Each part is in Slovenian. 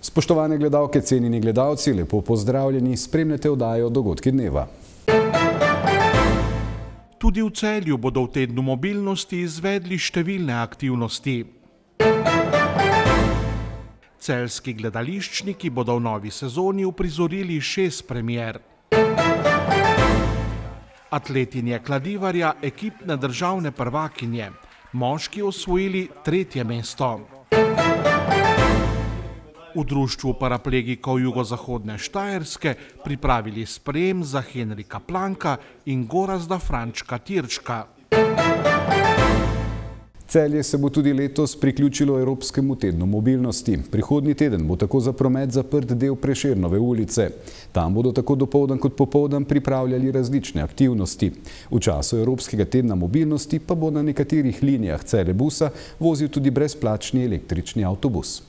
Spoštovane gledalke, cenjeni gledalci, lepo pozdravljeni, spremljate oddajo Dogodki dneva. Tudi v Celju bodo v tednu mobilnosti izvedli številne aktivnosti. Celjski gledališčniki bodo v novi sezoni uprizorili 6 premier. Atletinje kladivarja, ekipne državne prvakinje, moški osvojili 3. mesto. V društvu paraplegikov jugozahodne Štajerske pripravili sprejem za Henrika Planka in Gorazda Frančka Tirčka. Celje se bo tudi letos priključilo Evropskemu tednu mobilnosti. Prihodnji teden bo tako za promet zaprt del Prešernove ulice. Tam bodo tako dopoldan kot popoldan pripravljali različne aktivnosti. V času Evropskega tedna mobilnosti pa bo na nekaterih linijah Celjebusa vozil tudi brezplačni električni avtobus.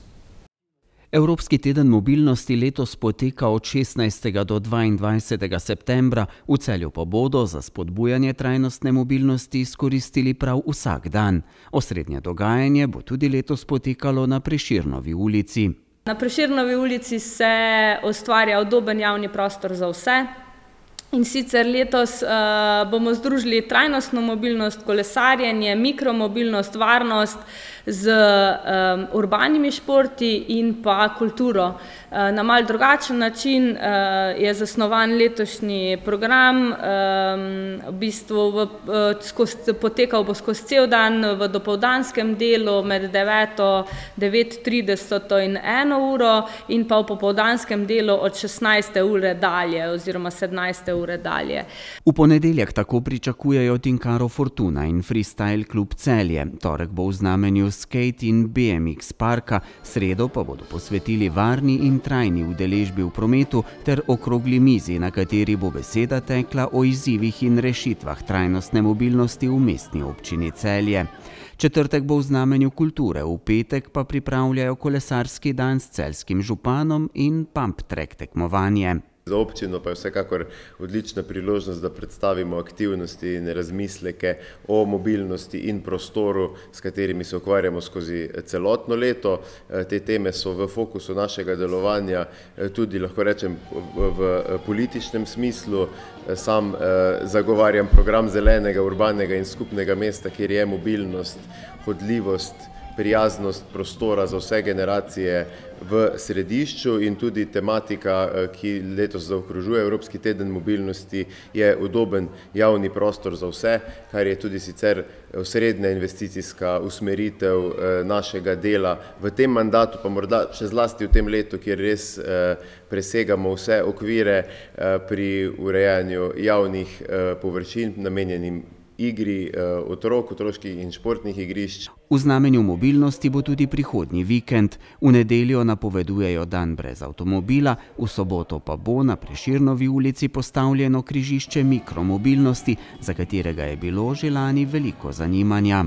Evropski teden mobilnosti letos poteka od 16. do 22. septembra, v Celju pa bodo za spodbujanje trajnostne mobilnosti izkoristili prav vsak dan. Osrednje dogajanje bo tudi letos potekalo na Prešernovi ulici. Na Prešernovi ulici se ustvarja udoben javni prostor za vse. In sicer letos bomo združili trajnostno mobilnost, kolesarjenje, mikromobilnost, varnost z urbanimi športi in pa kulturo. Na malo drugačen način je zasnovan letošnji program, v bistvu potekal bo skozi cel dan v dopoldanskem delu med 9:30 in 1 uro in pa v popoldanskem delu od 16. ure dalje oziroma 17. ure dalje. V ponedeljek tako pričakujejo Tinkaro Fortuna in Freestyle klub Celje. Torek bo v znamenju skate in BMX parka, sredo pa bodo posvetili varni in trajni udeležbi v prometu ter okrogli mizi, na kateri bo beseda tekla o izzivih in rešitvah trajnostne mobilnosti v mestni občini Celje. Četrtek bo v znamenju kulture, v petek pa pripravljajo kolesarski dan s celjskim županom in pump track tekmovanje. Za občino pa je vsekakor odlična priložnost, da predstavimo aktivnosti in razmisleke o mobilnosti in prostoru, s katerimi se ukvarjamo skozi celotno leto. Te teme so v fokusu našega delovanja tudi, lahko rečem, v političnem smislu. Sam zagovarjam program zelenega, urbanega in skupnega mesta, kjer je mobilnost, hodljivost, prijaznost prostora za vse generacije v središču in tudi tematika, ki letos zaokrožuje Evropski teden mobilnosti, je udoben javni prostor za vse, kar je tudi sicer osrednja investicijska usmeritev našega dela v tem mandatu, pa morda še zlasti v tem letu, kjer res presegamo vse okvire pri urejanju javnih površin namenjenim igri otrok, otroških in športnih igrišč. V znamenju mobilnosti bo tudi prihodnji vikend. V nedeljo napovedujejo dan brez avtomobila, v soboto pa bo na Prešernovi ulici postavljeno križišče mikromobilnosti, za katerega je bilo že lani veliko zanimanja.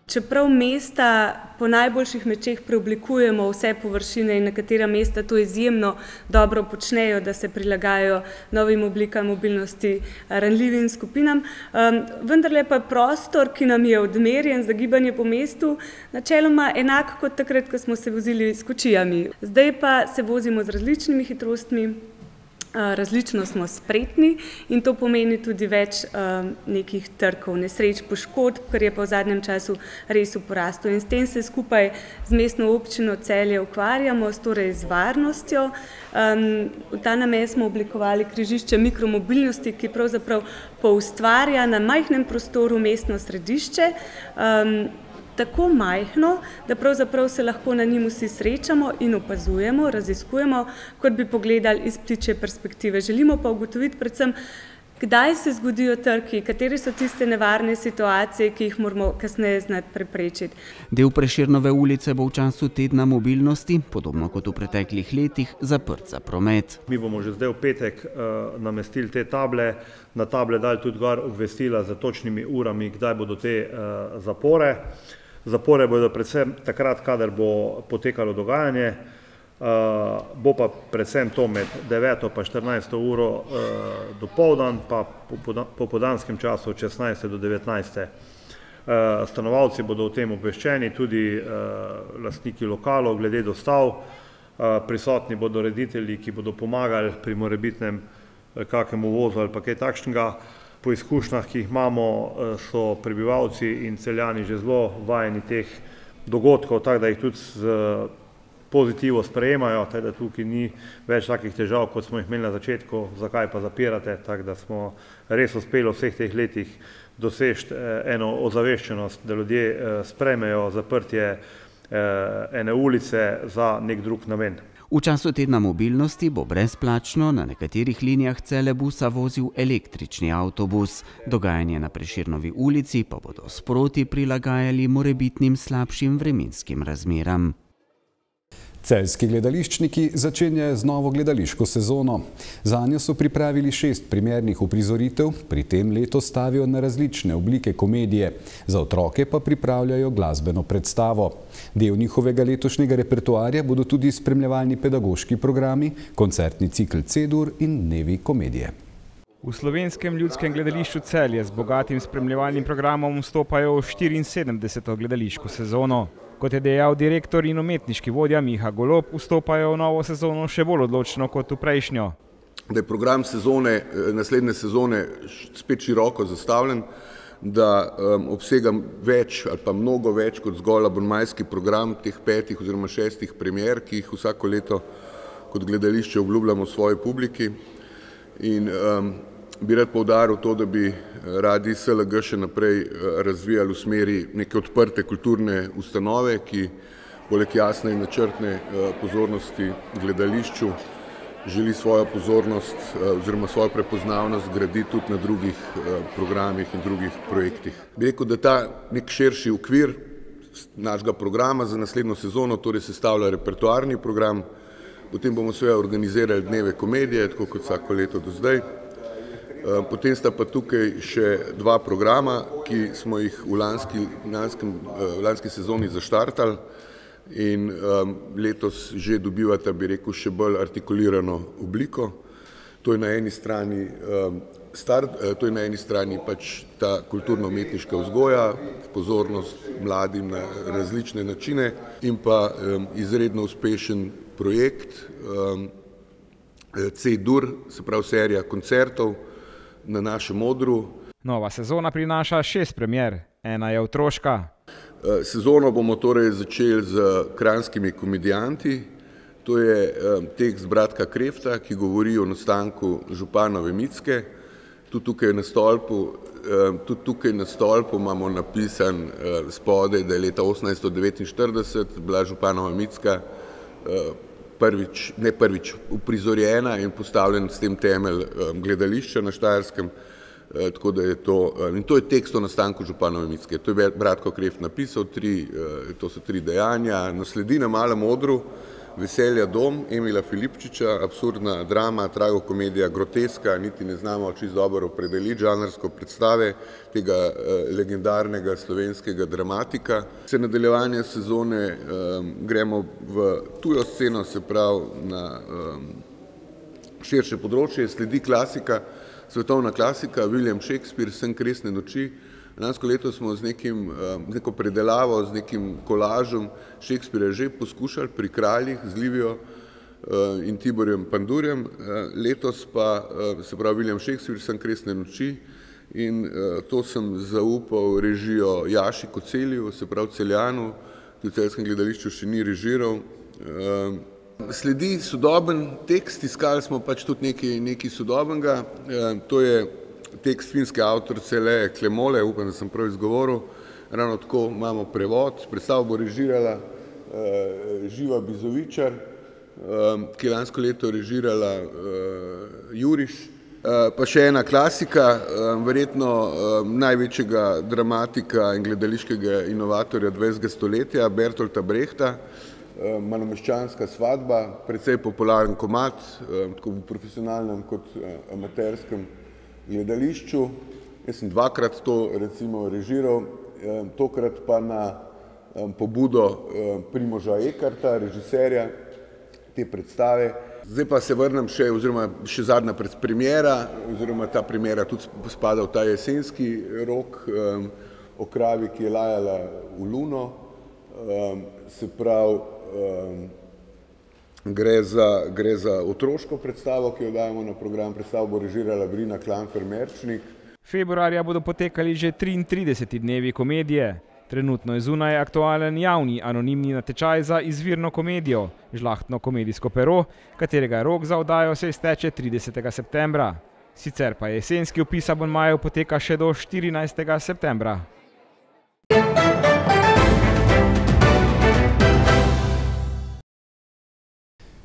Čeprav mesta po najboljših močeh preoblikujemo vse površine in nekatera mesta to izjemno dobro počnejo, da se prilagajajo novim oblikam mobilnosti ranljivim skupinam, vendarle pa prostor, ki nam je odmerjen za gibanje po mestu, načeloma enak kot takrat, ko smo se vozili s kočijami. Zdaj pa se vozimo z različnimi hitrostmi, različno smo spretni in to pomeni tudi več nekih trkov, nesreč, poškodb, kar je pa v zadnjem času res v porastu. In s tem se skupaj z mestno občino Celje ukvarjamo, torej z varnostjo. V ta namen smo oblikovali križišče mikromobilnosti, ki pravzaprav poustvarja na majhnem prostoru mestno središče, tako majhno, da pravzaprav se lahko na njim vsi srečamo in opazujemo, raziskujemo, kot bi pogledali iz ptičje perspektive. Želimo pa ugotoviti predvsem, kdaj se zgodijo trki, katere so tiste nevarne situacije, ki jih moramo kasneje znati preprečiti. Del Prešernove ulice bo v času tedna mobilnosti, podobno kot v preteklih letih, zaprt za promet. Mi bomo že zdaj v petek namestili te table, na table dali tudi gor obvestila za točnimi urami, kdaj bodo te zapore. Zapore bodo predvsem takrat, kadar bo potekalo dogajanje. Bo pa predvsem to med 9. pa 14. uro dopoldan, pa po popoldanskem času od 16. do 19. Stanovalci bodo o tem obveščeni, tudi lastniki lokalov glede dostav, prisotni bodo reditelji, ki bodo pomagali pri morebitnem kakemu uvozu ali pa kaj takšnega. Po izkušnjah, ki jih imamo, so prebivalci in celjani že zelo vajeni teh dogodkov, tako da jih tudi z pozitivo sprejemajo, tako da tukaj ni več takih težav, kot smo jih imeli na začetku, zakaj pa zapirate, tako da smo res uspeli v vseh teh letih doseči eno ozaveščenost, da ljudje sprejmejo zaprtje ene ulice za nek drug namen. V času tedna mobilnosti bo brezplačno na nekaterih linijah Celebusa vozil električni avtobus. Dogajanje na Prešernovi ulici pa bodo sproti prilagajali morebitnim slabšim vremenskim razmeram. Celjski gledališčniki začenjajo z novo gledališko sezono. Zanjo so pripravili 6 primernih uprizoritev, pri tem letos stavijo na različne oblike komedije. Za otroke pa pripravljajo glasbeno predstavo. Del njihovega letošnjega repertoarja bodo tudi spremljevalni pedagoški programi, koncertni cikl C-dur in dnevi komedije. V Slovenskem ljudskem gledališču Celje z bogatim spremljevalnim programom vstopajo v 74. gledališko sezono. Kot je dejal direktor in umetniški vodja Miha Golob, vstopajo v novo sezono še bolj odločno kot v prejšnjo. Da je program sezone, naslednje sezone spet široko zastavljen, da obsega več ali pa mnogo več kot zgolj abonmajski program teh 5 oziroma 6 premier, ki jih vsako leto kot gledališče obljubljamo svoji publiki. In bi rad poudaril to, da bi radi SLG še naprej razvijali v smeri neke odprte kulturne ustanove, ki poleg jasne in načrtne pozornosti gledališču želi svojo pozornost oziroma svojo prepoznavnost graditi tudi na drugih programih in drugih projektih. Bi rekel, da ta nek širši okvir našega programa za naslednjo sezono torej sestavlja repertoarni program, potem bomo seveda organizirali dneve komedije, tako kot vsako leto do zdaj. Potem sta pa tukaj še 2 programa, ki smo jih v lanski sezoni zaštartali in letos že dobivata, bi rekel, še bolj artikulirano obliko. To je na eni strani pač ta kulturno-umetniška vzgoja, pozornost mladim na različne načine in pa izredno uspešen projekt C-dur, se pravi serija koncertov na našem odru. Nova sezona prinaša 6 premier, ena je otroška. Sezono bomo torej začeli z Kranjskimi komedijanti. To je tekst Bratka Krefta, ki govori o nastanku županove Micke. Tudi tukaj na stolpu imamo napisan spodaj, da je leta 1849 bila županova Micka prvič uprizorjena in postavljen s tem temelj gledališča na Štajerskem, tako da je to, in to je tekst o nastanku županove Micke. To je Bratko Kreft napisal, to so 3 dejanja. Nasledi na malem odru Veselja dom Emila Filipčiča, absurdna drama, tragokomedija, groteska, niti ne znamo čisto dobro opredeliti žanrsko predstave tega legendarnega slovenskega dramatika. Se nadaljevanje sezone gremo v tujo sceno, se pravi na širše področje, sledi klasika, svetovna klasika, William Shakespeare, Sen kresne noči. Lansko leto smo z neko predelavo, z nekim kolažem Shakespearea že poskušali pri Kraljih z Livijo in Tiborjem Pandurjem. Letos pa, se pravi, William Shakespeare, Sen kresne noči, in to sem zaupal režijo Jaši Kocelju, se pravi Celjanu, ki v celjskem gledališču še ni režiral. Sledi sodoben tekst, iskali smo pač tudi nekaj sodobnega. To je tekst finske avtorice Leje Klemole, upam, da sem prav izgovoril. Ravno tako imamo prevod. Predstavo bo režirala Živa Bizovičar, ki je lansko leto režirala Juriš. Pa še ena klasika, verjetno največjega dramatika in gledališkega inovatorja 20. stoletja, Bertolta Brechta, Malomeščanska svadba, precej popularen komad, tako v profesionalnem kot amaterskem gledališču. Jaz sem 2-krat to recimo režiral, tokrat pa na pobudo Primoža Ekarta, režiserja te predstave. Zdaj pa se vrnem še zadnja premiera, oziroma ta premiera tudi spada v ta jesenski rok o kravi, ki je lajala v luno. Se pravi, gre za otroško predstavo, ki jo dajemo na program. Predstavo bo režirala Brina Klanfer-Merčnik. Februarja bodo potekali že 33. dnevi komedije. Trenutno je zunaj aktualen javni anonimni natečaj za izvirno komedijo, Žlahtno komedijsko pero, katerega rok za oddajo se izteče 30. septembra. Sicer pa jesenski vpis abonmajev poteka še do 14. septembra.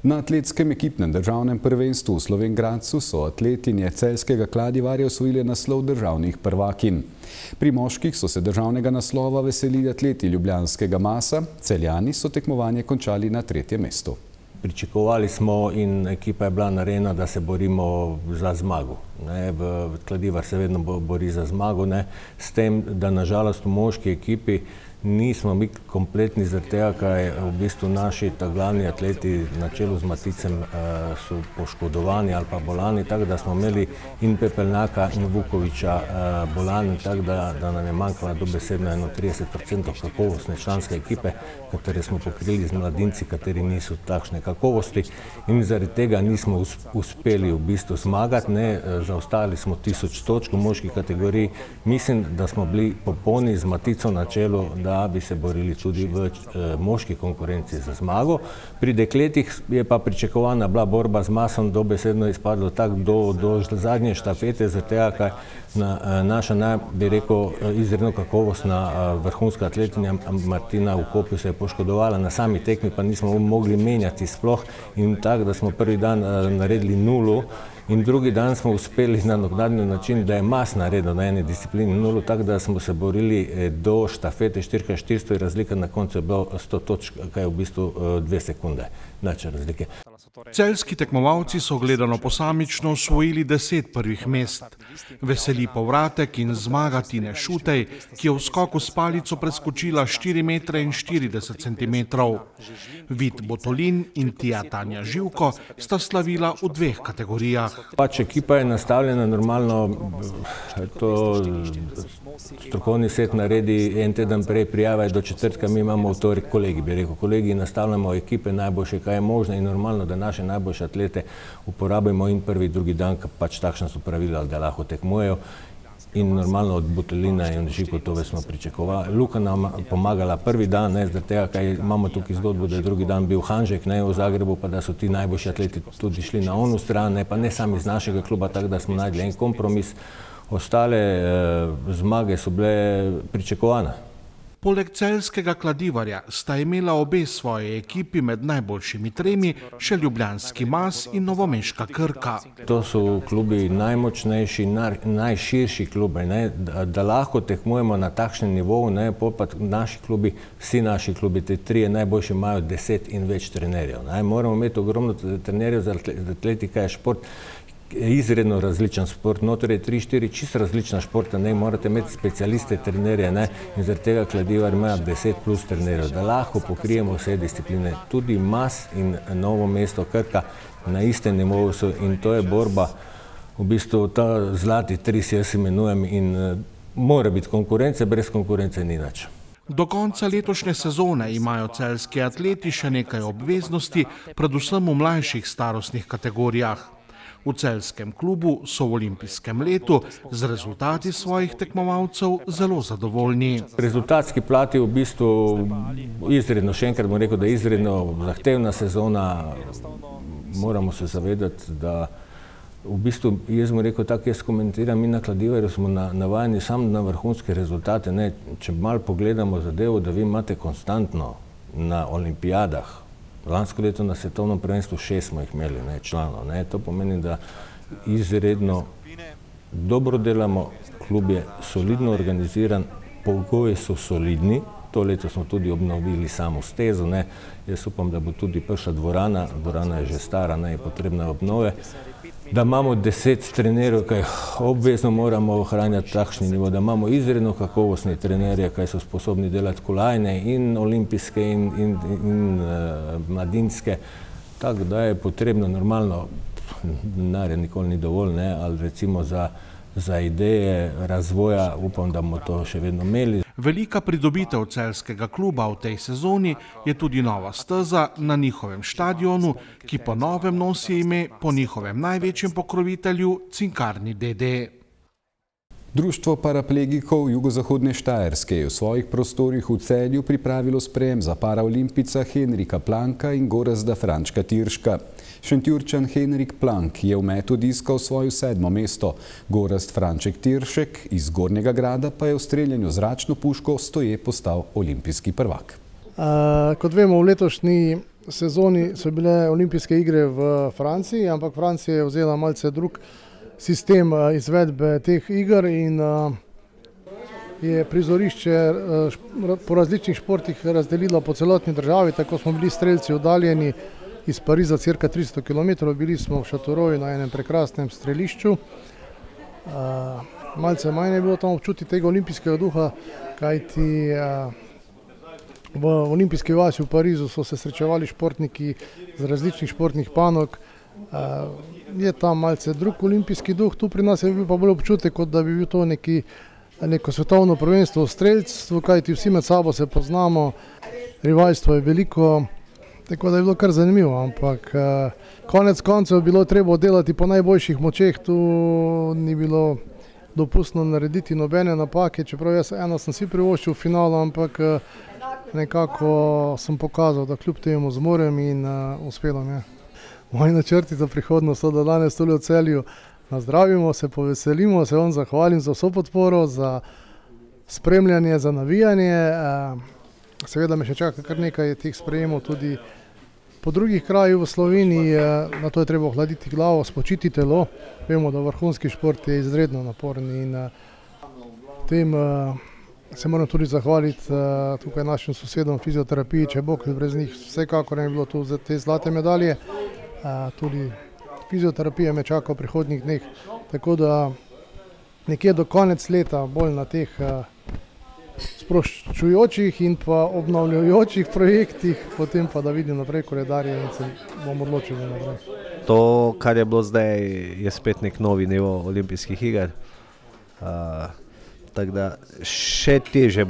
Na atletskem ekipnem državnem prvenstvu v Slovenj Gradcu so atletinje celjskega Kladivarja osvojile naslov državnih prvakinj. Pri moških so se državnega naslova veselili atleti ljubljanskega Masa, Celjani so tekmovanje končali na 3. mestu. Pričakovali smo in ekipa je bila narejena, da se borimo za zmago. Kladivar se vedno bori za zmago, s tem, da nažalost v moški ekipi nismo mi kompletni zaradi tega, kaj v bistvu naši glavni atleti na čelu z Maticem so poškodovani ali pa bolani, tako da smo imeli in Pepelnjaka in Vukoviča bolani, tako da nam je manjkala dobesedno 31% kakovostne članske ekipe, katere smo pokrili z mladinci, kateri niso takšne kakovosti in zaradi tega nismo uspeli v bistvu zmagati, zaostali smo 1000 točk v moški kategoriji. Mislim, da smo bili popolni z Matico na čelu, da bi se borili tudi v moški konkurenci za zmago. Pri dekletih je pa pričakovana bila borba z Masom, dobesedno izpadlo tako do zadnje štafete, zaradi tega, kaj naša, bi rekel, izredno kakovostna vrhunska atletinja Martina v Kopju se je poškodovala, na sami tekmi pa nismo mogli menjati sploh in tako, da smo prvi dan naredili 0 in drugi dan smo uspeli na naknadni način, da je Mas naredil na eni disciplini 0, tako da smo se borili do štafete 4x400 in razlika na koncu je bilo 100 točk, kaj je v bistvu 2 sekunde. Način razlike. Celjski tekmovalci so gledano posamično osvojili 10 prvih mest. Veseli povratek in zmaga Tine Šutej, ki je v skoku s palico preskočila 4,40 m. Vid Botolin in Tija Tanja Živko sta slavila v 2 kategorijah. Pač ekipa je nastavljena normalno, to strokovni svet naredi en teden prej, prijave do četrtka, mi imamo v torek kolegi, bi rekel, kolegi nastavljamo ekipe najboljše, kaj je možno in normalno, da naše najboljše atlete uporabimo in prvi, drugi dan, pač takšna so pravila, da lahko tekmujejo in normalno od Botolina in Živko to smo pričakovali. Luka nam pomagala prvi dan, zaradi tega, kaj imamo tukaj zgodbo, da je drugi dan bil Hanžek v Zagrebu, pa da so ti najboljši atleti tudi šli na onu stran, pa ne sami iz našega kluba, tako da smo najdli en kompromis. Ostale zmage so bile pričakovane. Poleg celjskega Kladivarja sta imela obe svoje ekipi med najboljšimi 3 še ljubljanski Mas in novomeška Krka. To so klubi najmočnejši, najširši klubi, da lahko tekmujemo na takšnem nivoju, pa naši klubi, vsi naši klubi, te 3 najboljši imajo 10 in več trenerjev. Moramo imeti ogromno trenerjev, za atletika je šport, izredno različen šport, notor je 3-4 čisto različna športa, morate imeti specialiste, trenerje in zaradi tega Kladivar ima 10+ trenerjev, da lahko pokrijemo vse discipline, tudi Mas in Novo mesto Krka na istem nivoju so in to je borba, v bistvu ta zlati tris jaz imenujem in mora biti konkurence, brez konkurence ni nič. Do konca letošnje sezone imajo celjski atleti še nekaj obveznosti, predvsem v mlajših starostnih kategorijah. V celjskem klubu so v olimpijskem letu z rezultati svojih tekmovalcev zelo zadovoljni. Rezultatski plat je v bistvu izredno, še enkrat bom rekel, da je izredno zahtevna sezona. Moramo se zavedati, da v bistvu, jaz bom rekel tako, jaz komentiram, mi na Kladivarju smo navajeni samo na vrhunske rezultate. Če malo pogledamo zadevo, da vi imate konstantno na olimpijadah, lansko leto na svetovnem prvenstvu 6 smo jih imeli članov. To pomeni, da izredno dobro delamo, klub je solidno organiziran, pogoji so solidni, to leto smo tudi obnovili samo stezo, jaz upam, da bo tudi prišla dvorana, dvorana je že stara, je potrebna obnove, da imamo 10 trenerjev, kaj obvezno moramo ohranjati takšni nivo, da imamo izredno kakovostne trenerje, kaj so sposobni delati kolajne in olimpijske in mladinske, Tako da je potrebno normalno, denarja nikoli ni dovolj, ali recimo za ideje razvoja, upam, da bomo to še vedno imeli. Velika pridobitev celjskega kluba v tej sezoni je tudi nova steza na njihovem štadionu, ki po novem nosi ime po njihovem največjem pokrovitelju Cinkarni DD. Društvo paraplegikov Jugozahodne Štajerske je v svojih prostorih v Celju pripravilo sprejem za paraolimpica Henrika Planka in Gorazda Frančka Tirška. Šentjurčan Henrik Plank je v metu diskal svojo 7. mesto, Gorazd Franček Tiršek iz Gornjega Grada pa je v streljanju zračno puško stoje postal olimpijski prvak. Kot vemo, v letošnji sezoni so bile olimpijske igre v Franciji, ampak Francija je vzela malce drug sistem izvedbe teh iger in je prizorišče po različnih športih razdelilo po celotni državi, tako smo bili strelci oddaljeni iz Pariza cirka 300 km, bili smo v Šatoroju na enem prekrasnem strelišču. Malce manj je bilo tam občuti tega olimpijskega duha, kajti v olimpijski vasi v Parizu so se srečevali športniki z različnih športnih panog. Je tam malce drug olimpijski duh, tu pri nas je bil pa bolj občutek, kot da bi bil to neko svetovno prvenstvo v strelstvu, kajti vsi med sabo se poznamo, rivalstvo je veliko, tako da je bilo kar zanimivo, ampak konec koncev je bilo treba delati po najboljših močeh, tu ni bilo dopustno narediti nobene napake, čeprav jaz eno sem si privoščil v finalu, ampak nekako sem pokazal, da kljub temu zmorem in uspelo mi je. Moji načrti za prihodnost so, da danes tule v Celju nazdravimo, se poveselimo, se vam zahvalim za vso podporo, za spremljanje, za navijanje. Seveda me še čaka kar nekaj teh sprejemov tudi po drugih krajih v Sloveniji. Na to je treba ohladiti glavo, spočiti telo. Vemo, da vrhunski šport je izredno naporen in tem se moram tudi zahvaliti tukaj našim sosedom fizioterapiji, če bo, brez njih vsekakor ne bi bilo tu te zlate medalje. Tudi fizioterapija me čaka v prihodnjih dneh, tako da nekje do konec leta bolj na teh sproščujočih in pa obnavljajočih projektih, potem pa da vidim naprej koledarje in se bom odločil naprej. To, kar je bilo zdaj, je spet nek novi nivo olimpijskih iger. Tako da še težje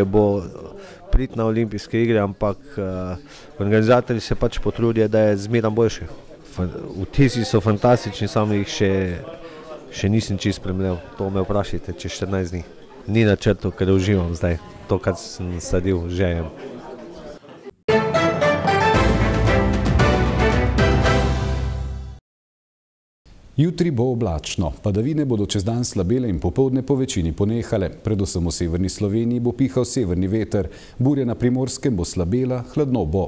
bo priti na olimpijske igre, ampak organizatorji se pač potrudijo, da je zmeraj boljše. Vtisi so fantastični, samo jih še nisem čisto spremljal. To me vprašajte čez 14 dni. Ni načrtov, ker uživam zdaj to, kar sem sadil, žejem. Jutri bo oblačno, padavine bodo čez dan slabele in popoldne po večini ponehale. Predvsem v severni Sloveniji bo pihal severni veter, burja na Primorskem bo slabela, hladno bo.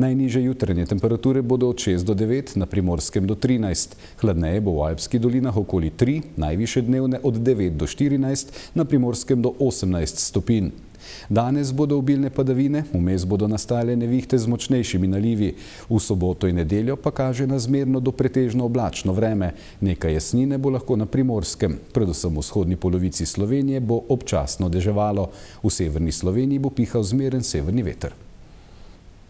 Najnižje jutranje temperature bodo od 6 do 9, na Primorskem do 13. Hladneje bo v Alpskih dolinah okoli 3, najvišje dnevne od 9 do 14, na Primorskem do 18 stopinj. Danes bodo obilne padavine, vmes bodo nastajale nevihte z močnejšimi nalivi. V soboto in nedeljo pa kaže na zmerno do pretežno oblačno vreme. Nekaj jasnine bo lahko na Primorskem. Predvsem v vzhodni polovici Slovenije bo občasno deževalo. V severni Sloveniji bo pihal zmeren severni veter.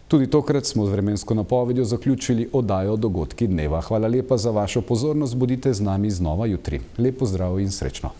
Tudi tokrat smo z vremensko napovedjo zaključili oddajo Dogodki dneva. Hvala lepa za vašo pozornost, bodite z nami znova jutri. Lep pozdrav in srečno.